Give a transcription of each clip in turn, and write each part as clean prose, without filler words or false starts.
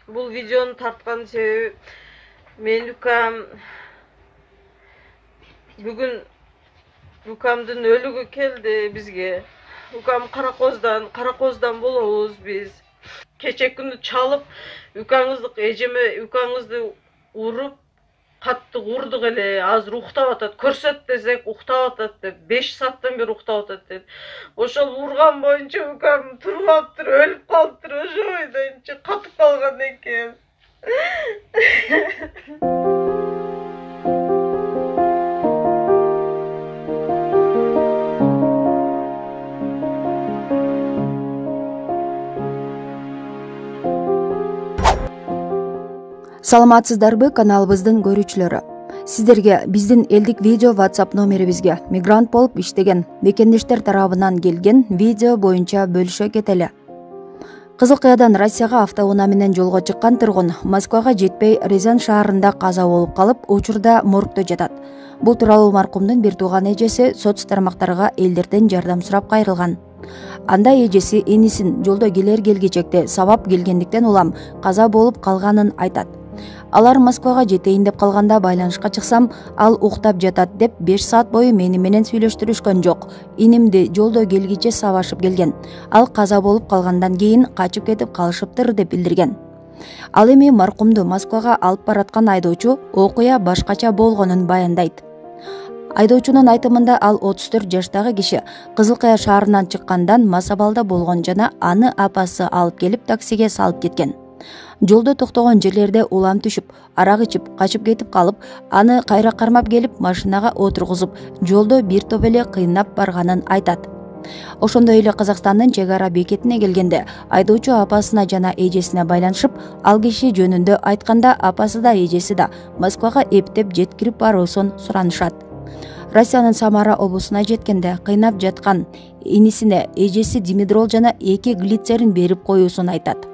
Бул видеону тарткан себеби мен укам бүгүн укамдын өлүгү келди бизге. Укам Каракоздан болобуз биз. Кече күнү чалып укаңызды уруп катты урдук эле. Азыр уктап атат. Көрсөт десек уктап атат деп 5 сааттан бери уктап атат деп. Ошол урган боюнча укам туруп алыптыр, өлүп калыптыр. Ошо бойдон катып калган экен. Саламатсыздарбы каналыбыздын көрүүчүлөрү. Сиздерге биздин элдик видео WhatsApp номерибизге мигрант болуп иштеген мекендештер тарабынан келген видео боюнча бөлүшө кетели. Кызыл Кыядан Россияга автоунаа менен жолго чыккан тургун Москвага жетпей Рязань шаарында каза болуп калып, учурда моргдо жатат. Бул тууралуу маркумдун бир тууган эжеси соц тармактарга элдерден жардам сурап кайрылган. Анда эжеси энисин жолдо келгичекте сабап келгендиктен улам каза болуп калганын айтат. Алар Москвага жетейин деп калганда байланышка чыксам, ал уктап жатат деп 5 саат бою мени менен сүйлөштүрүшкөн жок. Инимди жолдо келгиче сабашып келген. Ал каза болуп калгандан кийин качып кетип калышыптыр деп билдирген. Ал эми маркумду Москвага алып бараткан айдоочу окуя башкача болгонун баяндайт. Айдоочунун айтымында ал 34 жаштагы киши Кызыл Кыя шаарынан чыккандан мас абалда болгон жана аны апасы алып келип таксиге салып кеткен. Жолдо токтогон жерлерде улам түшүп, арак ичип, качып кетип калып, аны кайра кармап келип машинага отургузуп, жолдо бир топ эле кыйнап барганын айтат. Ошондой эле Казакстандын чек ара бекетине келгенде айдоочу апасына жана эжесине байланышып, ал киши жөнүндө айтканда апасы да эжеси да Москвага эптеп жеткирип баруусун суранышат. Россиянын Самара облусуна жеткенде кыйнап жаткан энисине эжеси димедрол жана 2 глицерин берип коюусун айтат.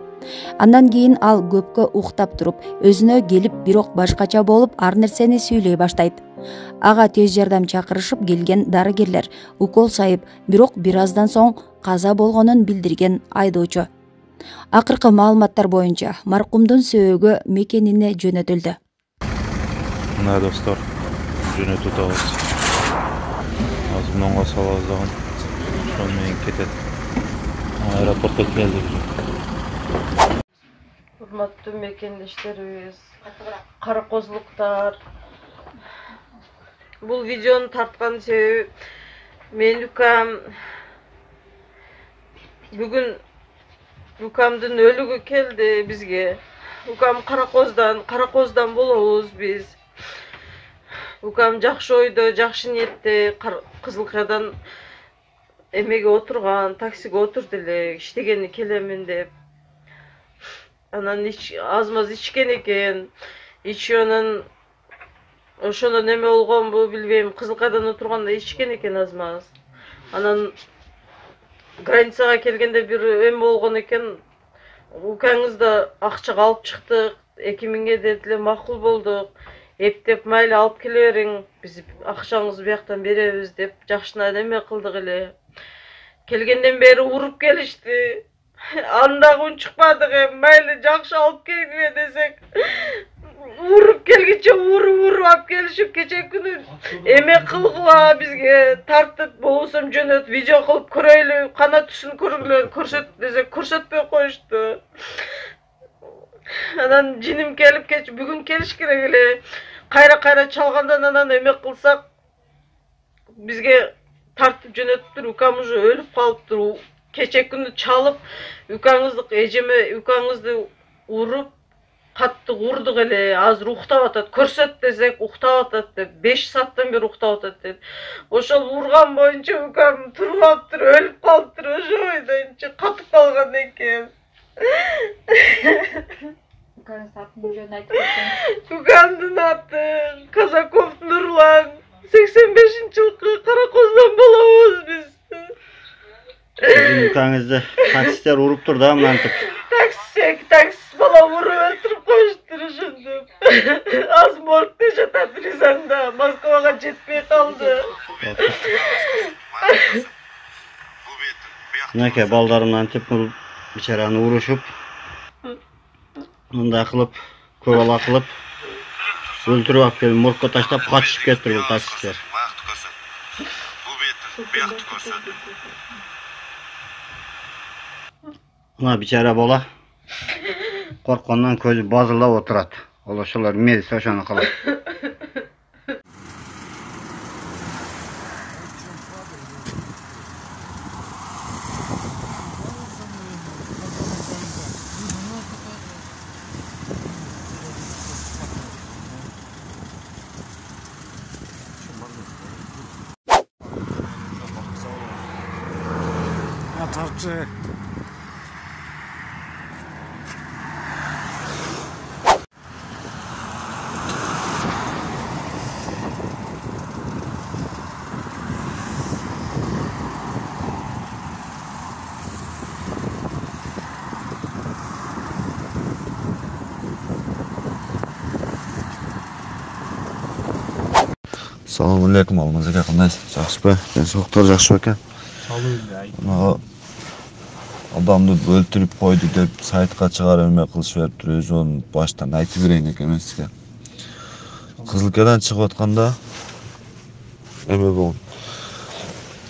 Андан кийин ал көпкө уктап туруп, өзүнө келип, бирок башкача болуп, ар нерсени сүйлөй баштайт. Ага тез жардам чакырышып келген дарыгерлер укол сайып, бирок бир аздан соң каза болгонун билдирген айдоочу. Акыркы маалыматтар боюнча маркумдун сөөгү мекенине жөнөтүлдү. Мына достор, жөнөтүп атабыз. Азыр мынга салабыз дагы. Ошону менен кетет. Аэропортко келдик. Урматтуу мекендештерибиз, каракозлуктар. Бул видеону тарткан себеби мен укам бүгүн укамдын өлүгү келди бизге. Укам Каракоздан болобуз биз. Укам жакшы ойдо, жакшы ниетте Кызыл Кыядан эмеге отурган, таксиге отурду эле, иштегени келемин деп. Анан аз-маз ичкен экен. Ичүүнөн ошондо неме болгонбу билбейм. Кызыл Кыядан отурганда ичкен экен аз-маз. Анан границага келгенде бир эме болгон экен. Укаңызды акчага алып чыктык, 2000 дедиле, макул болдук. Эптеп майли алып келе бериң, биз акчаңызды бияктан беребиз деп жакшына неме кылдык эле. Келгенден бери уруп келишти. Анда унчукпадык, майли жакшы алып келгиле десек, уруп келгиче уруп алып келишип, кече күнү эме кылгыла бизге тартып, болбосом жөнөт видео кылып көрөйлү, кана түсүн көргүлө, көрсөт десек көрсөтпөй коюшту. Анан жиним келип бүгүн келиш керек эле. Кайра чалгандан анан эме кылсак бизге тартып жөнөттүр. Укам уже өлүп калыптыр. Кече күнү чалып укаңызды уруп катты урдук эле. Азыр уктап атат. Көрсөт десек уктап атат деп 5 сааттан бери уктап атат деп. Ошол урган боюнча укам туруп алыптыр, өлүп калыптыр. Ошо бойдон катып калган экен. Укаңыздын атын жөнүн айтып кетсеңиз. Укамдын аты Казаков Нурлан. 85-жылкы Каракоздан болобуз биз. Укаңызды таксистер уруптур да мынантип. Такси бала уруп өлтүрүп коюштур ошондо. Аз моргдо жатат Рязанда, Москвага жетпей калды. Мынакей балдарым мынантип бичараны урушуп мындай кылып көп ала кылып өлтүрүп алып келип моргко таштап качышып кетти бул таксисттер. Баакты көрсөт. Бул бетин биякты көрсөт. Мына бичара бола корккондон көзү базылдап отурат. Ал ошолор мезип ошону кылат. Tarçı. Assalomu alaykum, Almaz aka, qandaysiz? Yaxshimi? Sog'liqlar yaxshi ekan? Adamды өлтүрүп койду деп сайтка чыгарып эме кылышып бериптир, өзү onu баштан айтып берейин экен сизге. Кызылкадан чыгып атканда эме болгон.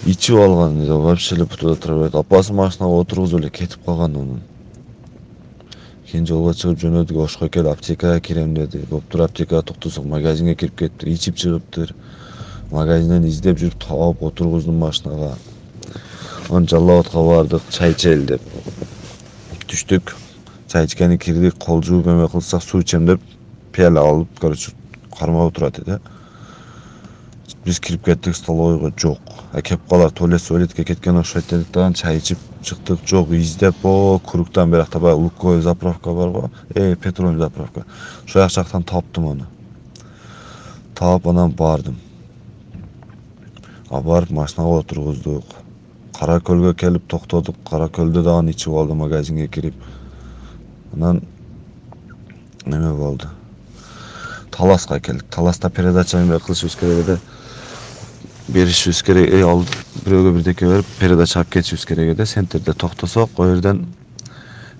Ичип алган эле, вообще эле бутуда тура берет. Апасы машинага отургузуп эле кетип калган onu. Кийин жолго чыгып жөнөдүк, ошко келип аптекага кирем деди. Боптур, аптекага токтосок магазинге кирип кетиптир, ичип чыгыптыр. Магазинден издеп жүрүп таап отургуздум машинага. Он Жаллабадка бардык, чай ичели деп. Түштүк. Чай ичкени кирдик, кол жууп эме кылсак, суу ичем деп пиала алып, короче, кармап отурат эди. Биз кирип кеттик столовойго, жок. Кеп калар, туалетке кеткен окшойт дедик да, чай ичип чыктык, жок, издеп, куруктан биракта баягы Луковой заправка барбы? Петроль заправка. Ошол жактан таптым аны. Таап анан бардым. Барып машинага отургуздук. Каракөлгө келип токтодук. Каракөлдө дагы ичип алды, магазинге кирип. Анан неме болду. Таласка келдик. Таласта передача эме кылышыбыз керек эди. Беришибиз керек, ал бирөөгө бирдеке берип, передача алып кетишибиз керек эди. Центрде токтосок, о жерден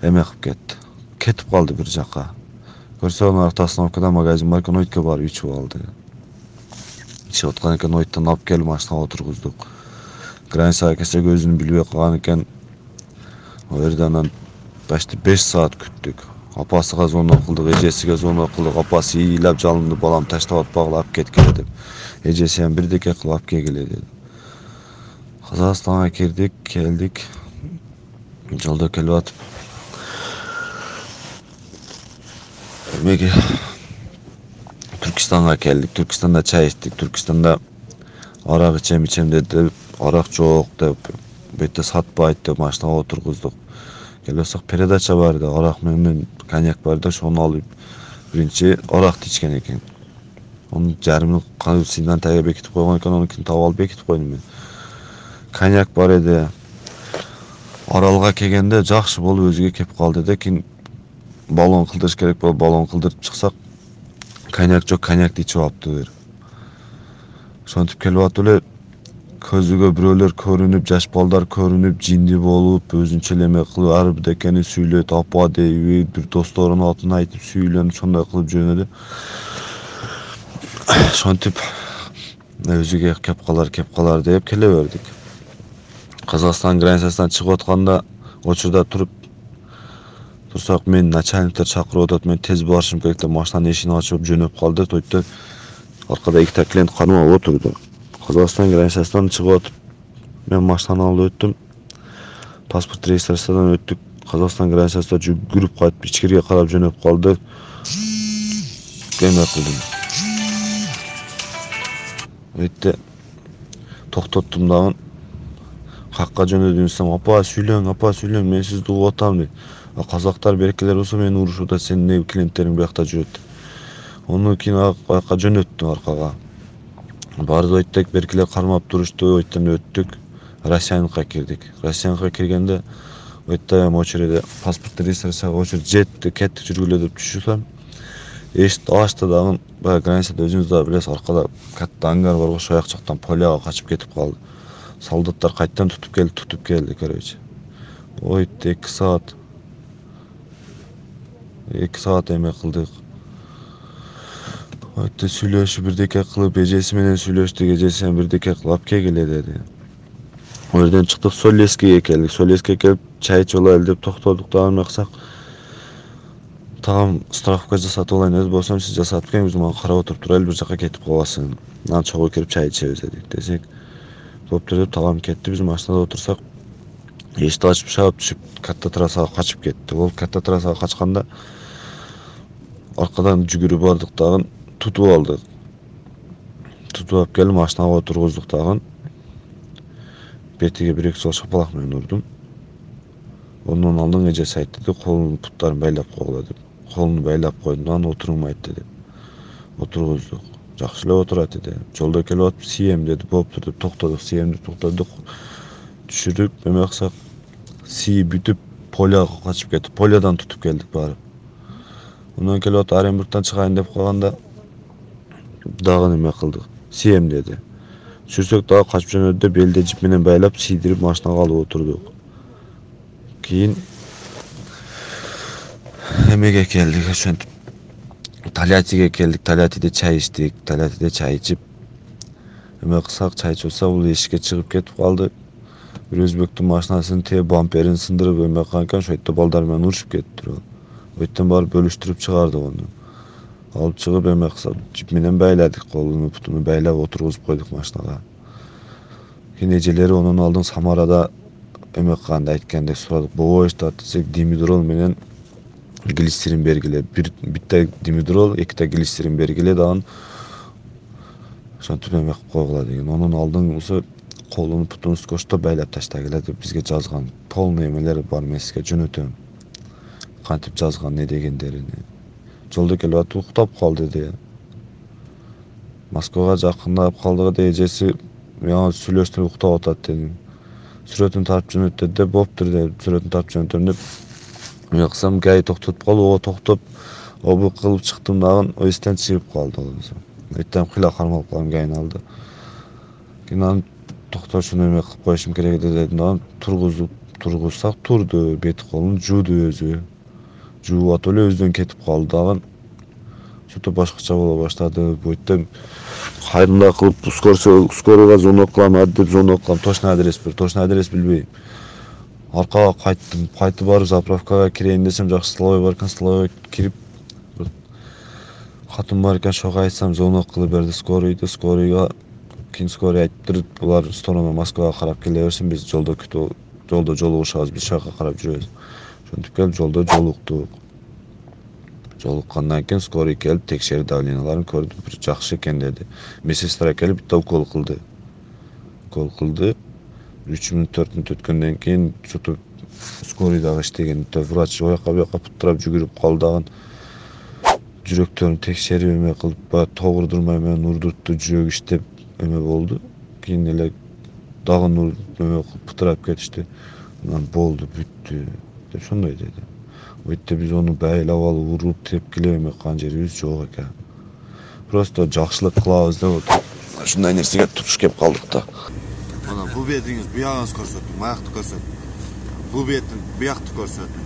эме кылып кетти. Кетип калды бир жака. Көрсө, анын остановкада магазин бар экен, ойтко барып ичип алды. Ичип аткан экен, ойттон алып келип машинага отургуздук. Границага келсек өзүн билбей калган экен. О жерде анан почти 5 саат күттүк. Апасыга звонок кылдык, эжесиге звонок кылдык. Апасы ыйлап жалынды, балам таштап атпагыла, алып кеткиле деп. Эжеси ham бирдеке кылып алып келгиле деди. Казакстанга кирдик, келдик. Жолдо келип атып эмеге Түркистанга келдик. Түркистанда чай ичтик. Түркистанда арак ичем деди. Арак жок деп, бетте сатпайт деп машинага отургуздук. Келсек передача бар да, арак менен коньяк бар да, ошону алып биринчи аракты ичкен экен. Onun жарымын канысынан тага бекитип койгон экен, онукин таап алып бекитип койдум мен. Коньяк бар эди. Аралга келгенде жакшы болуп өзүгө кеп калды да, кийин баллон кылдырыш керек болуп, баллон кылдырып чыксак, коньяк жок, коньякты ичип алыптыр. Ошентип келип атып эле көзүгө бирөөлөр көрүнүп, жаш балдар көрүнүп, жинди болуп, өзүнчө эле эме кылып, ар бирдекени сүйлөйт, апа дейби, бир досторунун атын айтып сүйлөнүп, ошондой кылып жөнөдү. Ошентип өзүгө кеп калар деп келе бердик. Казакстан границасынан чыгып атканда учурда турсак, мен начальниктер чакырып атат, мен тез барышым керек деп машинанын эшигин ачып жөнөп калды. Тойтто аркада ikkita клиент кармап отурду. Казакстан границасынан чыгып атып, мен машинаны алып өттүм. Паспорт регистрациядан өттүк. Казакстан границасында жүгүрүп кайтып ичкерге карап жөнөп калды. Эме кылдым. Өйтте токтоттум дагы. Какка жөнөдүм десем, апа сүйлөң, мен сизди угуп атам дейт. Казактар берекелер болсо мени урушуп атат, сенин клиенттериң биякта жүрөт. Onu кийин аяка жөнөттүм аркага. Барды ойттек беркелер кармап турушту, ойттон өттүк. Россияныкка кирдик. Россияныкка киргенде ойта очереде паспорт регистрацияга очередь жетти, кеттик жүргүлө деп түшүрсөм. Эшикти ачты дагы, баягы границада өзүңүз да билесиз, аркада катта ангар бар, ошол жактан поляга качып кетип калды. Солдаттар кайттан тутуп келди, короче. Ойт 2 саат. 2 саат эме кылдык. Өтө сүйлөшүп бирдеке кылып, эжеси менен сүйлөштүк, эжеси бирдеке кылып келгиле деди. О жерден чыктык, Солескеге келдик. Солескеге келип чай ичип алайлы деп токтодук. Дагы максак тагам страховка жасатып алайын деди. Болсом сиз жасатып келиңиз, биз мага карап отуруп турайлы, бир жака кетип калбасын. Анан чогуу кирип чай ичебиз дедик. Десек, болуптур деп тагам кетти. Биз машинада отурсак, эшикти ачып шаап түшүп катта трассага качып кетти. Ол катта трассага качканда аркадан жүгүрүп бардык, дагы тутуп алдык. Тутуп алып келип машинага отургуздук дагы. Бетиге 1-2 жол шапалак менен урдум. Ondan алдын эжеси айтты деп, колун буттарын байлап койгула деп. Колун байлап койдум, анан отурмайт деди. Отургуздук. Жакшы эле отурат деди. Жолдо келип атып сием деди. Болуптур деп токтодук, сиемди токтодук. Түшүрүп, эме кылсак, сии бүтүп поляга качып кетти. Полядан тутуп келдик барып. Ondan келип атып Оренбургтан чыгайын деп калганда дагы эме кылдык. Сием деди. Түшүрсөк дагы качып жөнөдү деп элде жип менен байлап сийдирип машинага алып отурдук. Кийин эмеге келдик, ошентип Тольяттиге келдик. Тольяттиде чай ичтик. Тольяттиде чай ичип эме кылсак, чай ичсак, бул эшикке чыгып кетип калды. Бир өзбектин машинасынын бамперин сындырып эме кылган экен, ошо балдар менен урушуп кетти. Өйттөн барып бөлүштүрүп чыгардык ону. Алып чыгып эме кылсак, жип менен байладык, колуну бутуну байлап отургузуп койдук машинага. Кийин эжелери онун алдын Самарада эме кылганды айткандек сурадык. Бобоштат десек димедрол менен глицерин бергиле. Битте димедрол, 2 глицерин бергиле дагы. Ошентип эме кылып койгула деген. Онун алдын болсо колуну бутуну скотчто байлап таштагыла деп бизге жазган. Полный эмелер бар, мен сизге жөнөтөм. Кантип жазган, не дегендерини. Жолдо келип атып уктап калды деди. Москвага жакындап калдык деди, эжеси мага сүйлөштүрүп уктап атат деди. Сүрөтүн тартып жөнөт деди, болуптур деп, сүрөтүн тартып жөнөтөм деп. Мен кылсам, гай токтотуп калып, ого токтоп, обу кылып чыктым дагы, эстен чыгып калды. Эттем кыйла кармалып калдым гайын алды. Кийин анан токтошуну эме кылып коюшум керек дедим дагы, тургузсак турду, бет колун жууду өзү. Жууп атып эле өзүдөн кетип калды дагы. Что-то башкача боло баштады. Бүйтөм кайрымда кылып скорыйга звонок кылам, деп звонок кылам. Точно адрес билбейм. Аркага кайттым, кайтып барып заправкага кирейин десем, жакшы столовой бар экен, столовойго кирип катын бар экен, ошого айтсам, звонок кылып берди скорыйга. Кийин скорый айтты, булар сторона Москвага карап келе берсин, биз жолдо жолугушабыз, биз шака карап жүрөбүз. Ошентип келип жолдо жолуктук. Жолуккандан кийин скорый келип текшерди, давленияларын көрдү, бир жакшы экен деди. Медсестра келип битте укол кылды. 3 мүнөт 4 мүнөт өткөндөн кийин что-то скорый дагы иштеген. Врач ояка буяка путтурап жүгүрүп калды. Жүрөктөрүн текшерип эме кылып, баягы тогурдурмай менен урдуртту, жүрөк иштеп эме болду. Кийин эле дагы эме путтурап кетишти. Анан болду, бүттү деп ошондой деди. Өйтө биз ону байлап алып, уруп, тепкилеп эме кылган жерибиз жок экен. Просто жакшылык кылабыз деп отуруп, ушундай нерсеге туш кеп калдык да. Mana bu betiңиz, bu ягыңыз көрсөтүң, аякты көрсөтүң. Bu betin, bu якты көрсөтүң.